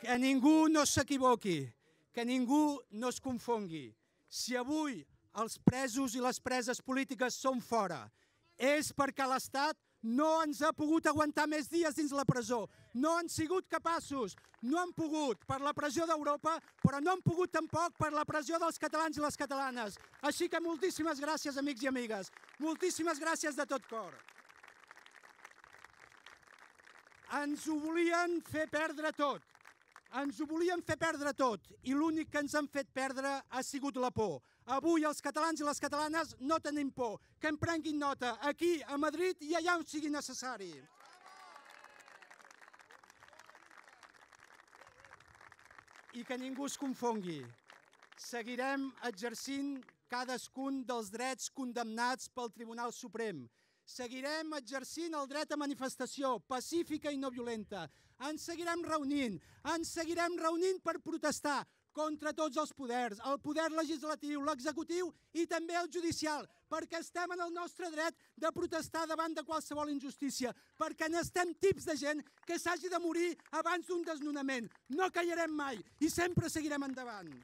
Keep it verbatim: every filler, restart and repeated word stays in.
Que ningú no s'equivoqui, que ningú no es confongui. Si avui els presos i les preses polítiques són fora, és perquè l'Estat no ens ha pogut aguantar més dies dins la presó. No han sigut capaços, no han pogut per la pressió d'Europa, però no han pogut tampoc per la pressió dels catalans i les catalanes. Així que moltíssimes gràcies, amics i amigues. Moltíssimes gràcies de tot cor. Ens ho volien fer perdre tot. Ens ho volien fer perdre tot i l'únic que ens han fet perdre ha sigut la por. Avui els catalans i les catalanes no tenim por. Que en prenguin nota aquí, a Madrid i allà on sigui necessari. I que ningú es confongui. Seguirem exercint cadascun dels drets condemnats pel Tribunal Suprem. Seguirem exercint el dret a manifestació pacífica i no violenta. Ens seguirem reunint, ens seguirem reunint per protestar contra tots els poders, el poder legislatiu, l'executiu i també el judicial, perquè estem en el nostre dret de protestar davant de qualsevol injustícia, perquè n'estem tips de gent que s'hagi de morir abans d'un desnonament. No callarem mai i sempre seguirem endavant.